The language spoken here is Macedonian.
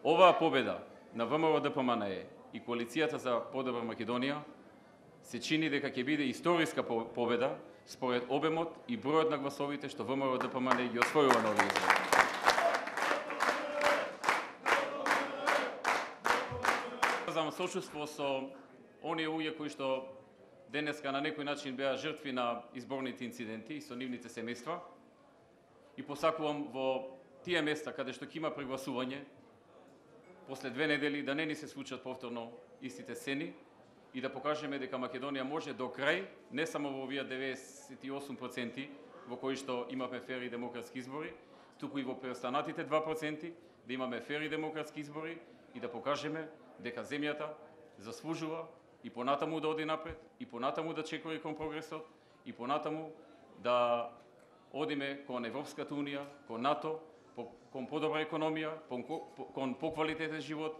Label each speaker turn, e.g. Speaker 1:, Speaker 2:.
Speaker 1: Оваа победа на ВМРО-ДПМНЕ и коалицијата за подобра Македонија се чини дека ќе биде историска победа според обемот и бројот на гласовите што ВМРО-ДПМНЕ ги освојува на овие избори. Изразам сочувство со оние луѓе кои што денеска на некој начин беа жртви на изборните инциденти и со нивните семејства, и посакувам во тие места каде што ќе има прегласување после 2 недели да не ни се случат повторно истите сцени и да покажеме дека Македонија може до крај, не само во овие 98% во кои што имаме фер и демократски избори, туку и во преостанатите 2% да имаме фер и демократски избори и да покажеме дека земјата заслужува и понатаму да оди напред, и понатаму да чекори кон прогресот, и понатаму да одиме кон Европската унија, кон НАТО, кон подобра економија, кон поквалитетен живот